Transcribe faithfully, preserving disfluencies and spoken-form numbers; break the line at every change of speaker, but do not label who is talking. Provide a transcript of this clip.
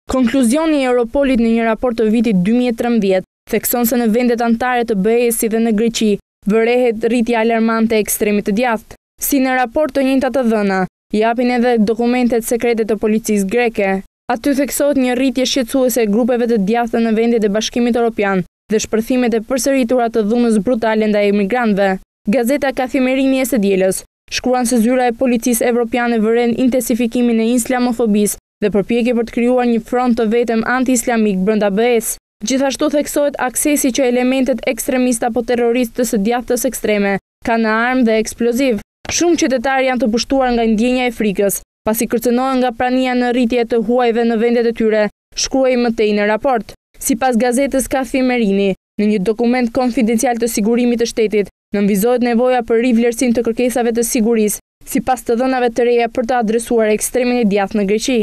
Konkluzioni i Europolit në një raport të vitit dy mijë e trembëdhjetë thekson se në vendet anëtare të B E-së, si dhe në Greqi, vërehet rritja alarmante e ekstremit të djathtë. Si në raport, të njëjtat të dhëna japin edhe dokumentet sekrete të policisë greke. Aty theksohet një rritje shqetësuese e grupeve të djathta në vendet e Bashkimit Evropian dhe shpërthimet e përsëritura të dhunës brutale ndaj emigrantëve. Gazeta Kathimerini e së dielës shkruan se zyra e policisë evropiane vëren intensifikimin e islamofobisë dhe përpjekje për të krijuar një front të vetëm anti-islamik brenda B E-s. Gjithashtu theksohet aksesi që elementet ekstremistë apo terroristë të së djathtës ekstreme kanë në armë dhe eksploziv. Shumë qytetarë janë të pushtuar nga ndjenja e frikës, pasi kërcënohen nga prania në rritje të huajve në vendet e tyre, shkruhej më tej në raport. Sipas gazetës Kathimerini, në një dokument konfidencial të sigurimit të shtetit, nënvizohet nevoja për rivlerësim të kërkesave të sigurisë, sipas të dhënave të reja, për të adresuar ekstremin e djathtë në Greqi.